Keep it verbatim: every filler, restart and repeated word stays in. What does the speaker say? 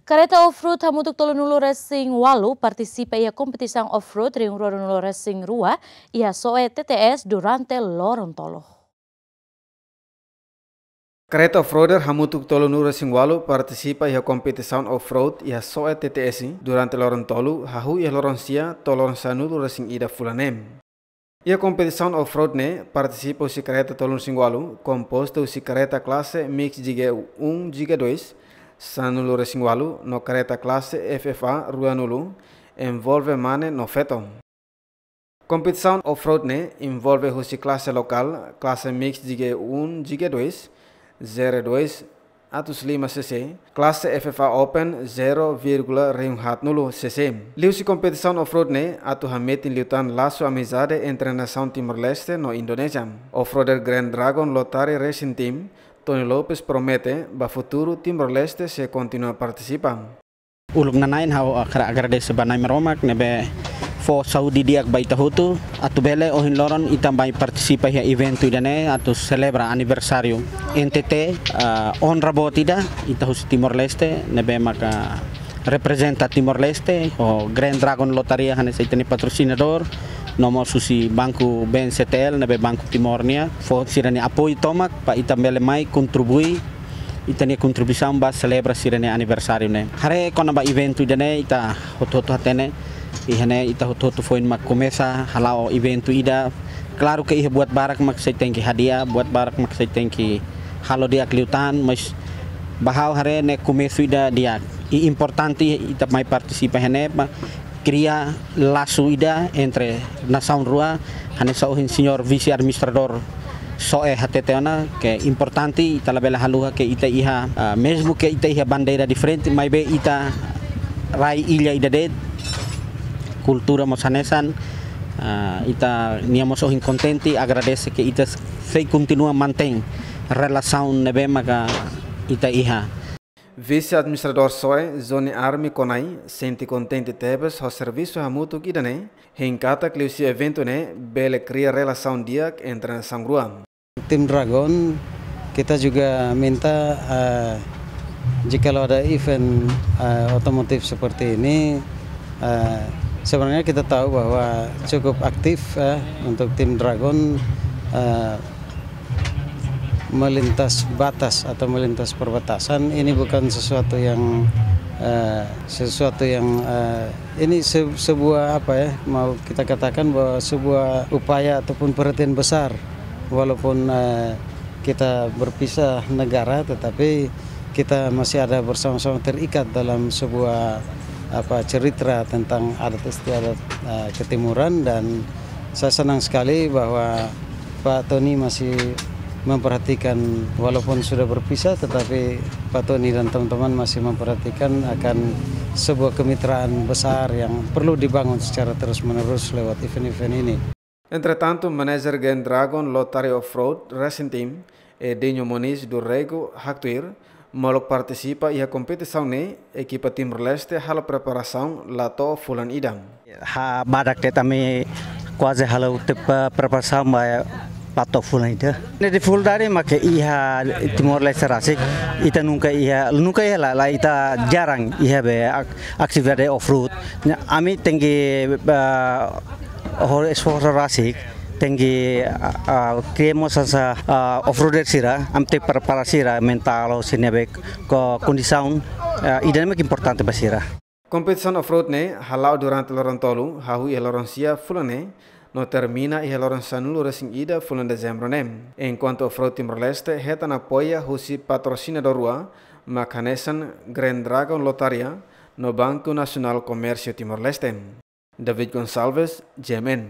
Kareta off-road hamutuk tolunulu resin ualu partisipa iha kompetisaun off-road rihun ruanulu resin rua iha Soe T T S durante loron tolu. Kareta off-roader hamutuk tolunulu resin ualu partisipa iha kompetisaun off-road iha Soe T T S durante loron tolu, hahú iha loron sia to'o loron sanulu resin ida fulan ne'e. Iha kompetisaun off-road ne'e partisipa husi kareta tolunulu resin ualu, kompostu husi kareta klase mix G G um, G G dois, sanulu resin ualu, no kareta klase F F A ruanulu, envolve mane no feto. Kompetisaun off-road ne'e envolve husi klase lokál, klase mix G G um, G G dois, zero dois atus lima C C, klase F F A Open zero vírgula rihun haatnulu C C. Liuhusi kompetisaun off-road ne'e atu hametin liután lasu amizade entre nasaun Timor-Leste no Indonézia. Off-roader Grand Dragon Lotari Racing Team, Tony Lopes promete ba futuru Timor-Leste sei kontinua partisipa. Uluk nanain ha'u hakarak agradese ba Na'i Maromak ne'ebé fó saúde di'ak ba ita hotu, atu bele ohin loron ita mai partisipa iha eventu ida-ne'e atu selebra aniversáriu N T T, ah, onra boot ida, ita husi Timor-Leste, ne'ebé maka reprezenta Timor-Leste, ho Grand Dragon Lotaria hanesan ita-nia patrosinadór, no mós husi Banku B N C T L, ne'ebé Banku Timor nian, fó sira-nia apoiu tomak, para ita bele mai kontribui ita-nia kontribuisaun ba selebra sira-nia aniversáriu ne'e. Haree kona-ba eventu ida-ne'e ita hotu-hotu hatene, iha ne'e ita hotu-hotu foin mak komesa hala'o eventu ida. Klaru ke iha buat barak mak sei tenke hadi'a, buat barak mak sei tenke halo di'ak liután, mas ba ha'u haree ne'e komesu ida di'ak. I importante ita mai partisipa iha ne'e, ba kria lasu ida entre nasaun rua, hanesan ohin señór vise administradór Soe hatete ona, ke importante ita labele haluha ke ita iha, ah, mezmu ke ita iha bandeira diferente, maibé ita rai illa ida de'it, kultura mós hanesan, ah, ita-nia mós ohin kontente, agradese ke ita sei kontinua mantein relasaun ne'ebé maka ita iha. Vise-Administradór Soe, Johnny Army Konai, sente kontente tebes ho servisu hamutuk ida-ne'e, hein katak liuhusi eventu ne'e bele kria relasaun di'ak entre nasaun rua. Tim Dragon, kita juga minta, eh, jikalau ada event, eh, otomotif seperti ini, eh, sebenarnya kita tahu bahwa cukup aktif, eh, untuk tim Dragon, eh, melintas batas atau melintas perbatasan. Ini bukan sesuatu yang, eh, sesuatu yang, eh, ini se-, sebuah, apa ya, mau kita katakan bahwa sebuah upaya ataupun perhatian besar. Walaupun, eh, kita berpisah negara, tetapi kita masih ada bersama-sama terikat dalam sebuah, apa, cerita tentang adat istiadat, eh, ketimuran, dan saya senang sekali bahwa Pak Tony masih memperhatikan, walaupun sudah berpisah, tetapi Pak Tony dan teman-teman masih memperhatikan akan sebuah kemitraan besar yang perlu dibangun secara terus-menerus lewat event-event ini. Entretantu, manajer Grand Dragon Lotari Off-Road Racing Team, Edinho Moniz do Rego, haktuir, molok partisipa iha kompetisaun ne'e, ekipa Timor-Leste halo preparasaun la to'o fulan ida. Ha'u badak de'it, ami kuaze halo tiha preparasaun ba la to'o fulan ida. Ne'e difikuldade mak iha Timor-Leste rasik, ita nunka iha, nunka iha la, la ita jarang iha be ak-, atividade off-road. Ne'e ami tenke, ah, ho esforsu rasik, tenke, ah, ah, kria mós hanesan, ah, off-roader sira, ami tenke prepara sira mentál ho sira-nia be ko-, kondisaun, ah, ida-ne'e mak importante ba sira. Kompetisaun off-road ne'e hala'o durante loron tolu, hahú iha loron sia fulan ne'e, no termina iha loron sanulu resin ida fulan Dezembru ne'e. Enkuantu Off-road Timor-Leste hetan apoiu husi patrosinadór rua, mak hanesan Grand Dragon Lotaria, no Banku Nasionál Komérsiu Timor-Leste. David Gonçalves, G M N.